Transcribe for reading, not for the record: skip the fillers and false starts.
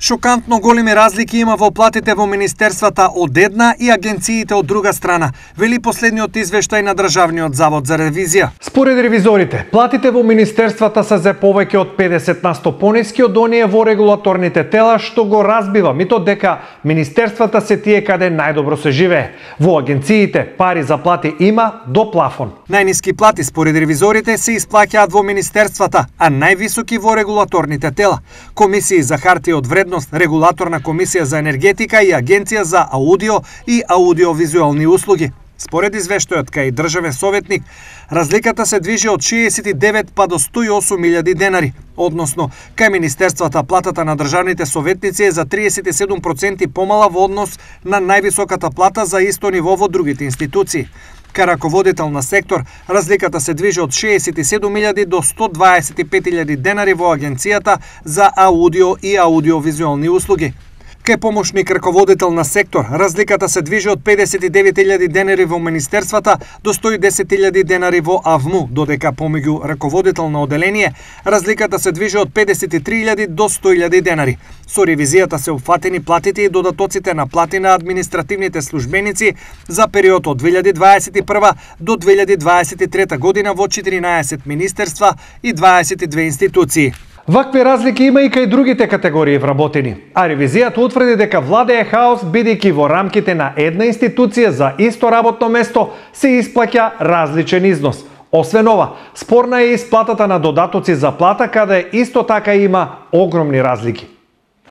Шокантно големи разлики има во платите во министерствата од една и агенциите од друга страна, вели последниот извештај на Државниот завод за ревизија. Според ревизорите, платите во министерствата се за повеќе од 50% пониски од оние во регулаторните тела, што го разбива митот дека министерствата се тие каде најдобро се живее. Во агенциите пари за плати има до плафон. Најниски плати според ревизорите се исплаќаат во министерствата, а највисоки во регулаторните тела. Комисии за хартија од вредност, Регулаторна комисија за енергетика и Агенција за аудио и аудиовизуелни услуги. Според извештајот кај државен советник, разликата се движи од 69 па до 108.000 денари, односно кај министерствата платата на државните советници е за 37% помала во однос на највисоката плата за исто ниво во другите институции. Кај раководител на сектор, разликата се движи од 67.000 до 125.000 денари во Агенцијата за аудио и аудиовизуелни услуги. Кај помошник раководител на сектор, разликата се движи од 59.000 денари во министерствата до 110.000 денари во АВМУ, додека помеѓу раководител на оделение, разликата се движи од 53.000 до 100.000 денари. Со ревизијата се опфатени платите и додатоците на плати на административните службеници за период од 2021 до 2023 година во 14 министерства и 22 институции. Вакви разлики има и кај другите категории вработени, а ревизијата утврди дека владее хаос бидејќи во рамките на една институција за исто работно место се исплаќа различен износ. Освен ова, спорна е исплатата на додатоци за плата каде исто така има огромни разлики.